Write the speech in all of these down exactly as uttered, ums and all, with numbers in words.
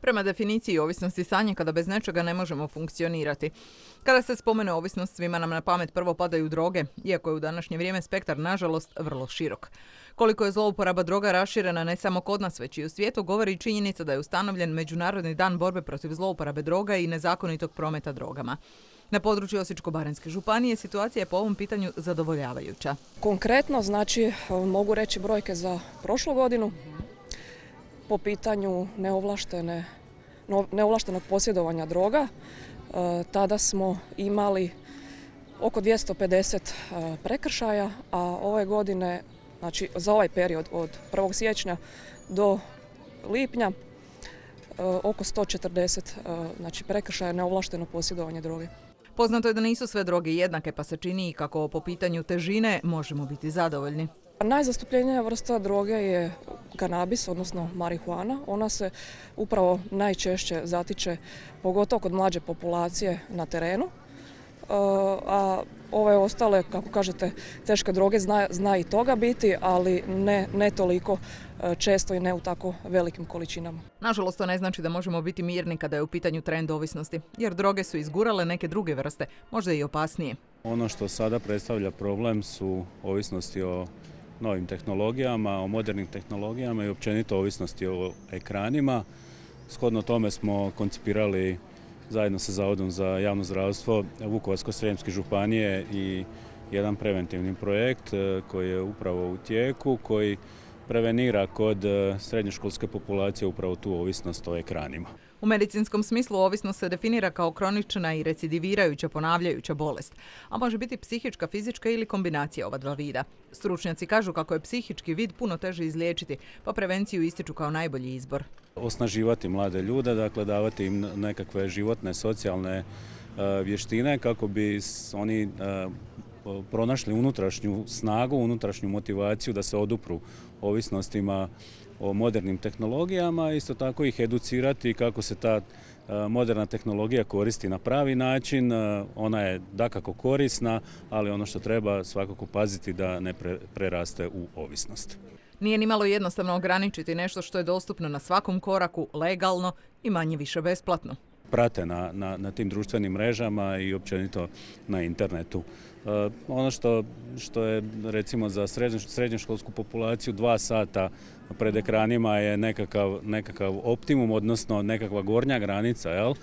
Prema definiciji ovisnosti stanje kada bez nečega ne možemo funkcionirati. Kada se spomene ovisnost, svima nam na pamet prvo padaju droge, iako je u današnje vrijeme spektar, nažalost, vrlo širok. Koliko je zlouporaba droga raširena ne samo kod nas, već i u svijetu, govori i činjenica da je ustanovljen Međunarodni dan borbe protiv zlouporabe droga i nezakonitog prometa drogama. Na području Osječko-baranjske županije situacija je po ovom pitanju zadovoljavajuća. Konkretno, znači, mogu reći brojke za prošlu godinu. Po pitanju neovlaštene, neovlaštenog posjedovanja droga, tada smo imali oko dvjesto pedeset prekršaja, a ove godine, znači za ovaj period od prvog siječnja do lipnja, oko sto četrdeset znači, prekršaja neovlašteno posjedovanje droge. Poznato je da nisu sve droge jednake, pa se čini kako po pitanju težine možemo biti zadovoljni. Najzastupljenija vrsta droge je kanabis, odnosno marihuana. Ona se upravo najčešće zatiče, pogotovo kod mlađe populacije, na terenu. A ove ostale, kako kažete, teške droge zna, zna i toga biti, ali ne, ne toliko često i ne u tako velikim količinama. Nažalost, to ne znači da možemo biti mirni kada je u pitanju trend ovisnosti, jer droge su izgurale neke druge vrste, možda i opasnije. Ono što sada predstavlja problem su ovisnosti o novim tehnologijama, o modernim tehnologijama i općenito ovisnosti o ekranima. Shodno tome smo koncipirali zajedno sa Zavodom za javno zdravstvo Vukovarsko-srijemske županije i jedan preventivni projekt koji je upravo u tijeku, koji prevenira kod srednjoškolske populacije upravo tu ovisnost o ekranima. U medicinskom smislu ovisnost se definira kao kronična i recidivirajuća ponavljajuća bolest, a može biti psihička, fizička ili kombinacija ova dva vida. Stručnjaci kažu kako je psihički vid puno teže izliječiti, pa prevenciju ističu kao najbolji izbor. Osnaživati mlade ljude, dakle davati im nekakve životne, socijalne vještine kako bi oni pronašli unutrašnju snagu, unutrašnju motivaciju da se odupru ovisnostima o modernim tehnologijama, isto tako ih educirati kako se ta moderna tehnologija koristi na pravi način. Ona je dakako korisna, ali ono što treba svakako paziti da ne preraste u ovisnost. Nije ni malo jednostavno ograničiti nešto što je dostupno na svakom koraku, legalno i manje više besplatno. Prate na, na, na tim društvenim mrežama i općenito na internetu. E, ono što, što je recimo za srednjoškolsku populaciju dva sata pred ekranima je nekakav, nekakav optimum, odnosno nekakva gornja granica, jel? E,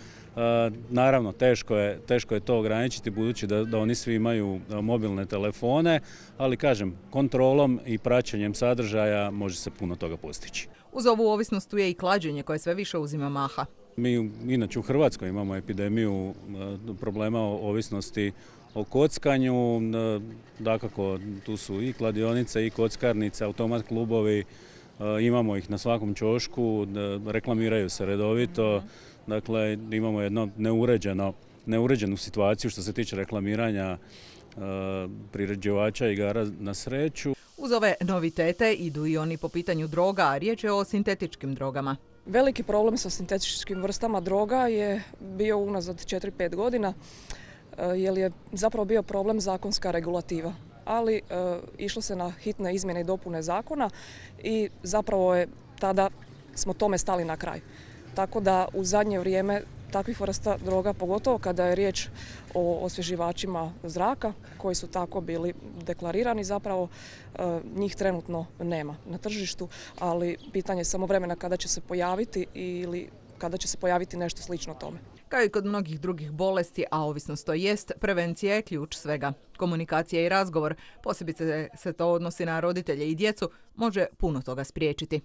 naravno, teško je, teško je to ograničiti budući da, da oni svi imaju mobilne telefone, ali kažem, kontrolom i praćenjem sadržaja može se puno toga postići. Uz ovu ovisnost tu je i klađenje koje sve više uzima maha. Mi inače u Hrvatskoj imamo epidemiju problema o ovisnosti o kockanju, dakako tu su i kladionice i kockarnice, automat klubovi, imamo ih na svakom ćošku, reklamiraju se redovito, dakle imamo jedno neuređeno, neuređenu situaciju što se tiče reklamiranja priređivača igara na sreću. Uz ove novitete idu i oni po pitanju droga, a riječ je o sintetičkim drogama. Veliki problem sa sintetičkim vrstama droga je bio unazad četiri pet godina, jer je zapravo bio problem zakonska regulativa. Ali e, išlo se na hitne izmjene i dopune zakona i zapravo je tada smo tome stali na kraj. Tako da u zadnje vrijeme takvih vrsta droga, pogotovo kada je riječ o osvježivačima zraka, koji su tako bili deklarirani, zapravo njih trenutno nema na tržištu, ali pitanje je samo vremena kada će se pojaviti ili kada će se pojaviti nešto slično tome. Kao i kod mnogih drugih bolesti, a ovisnost to jest, prevencija je ključ svega. Komunikacija i razgovor, posebice se to odnosi na roditelje i djecu, može puno toga spriječiti.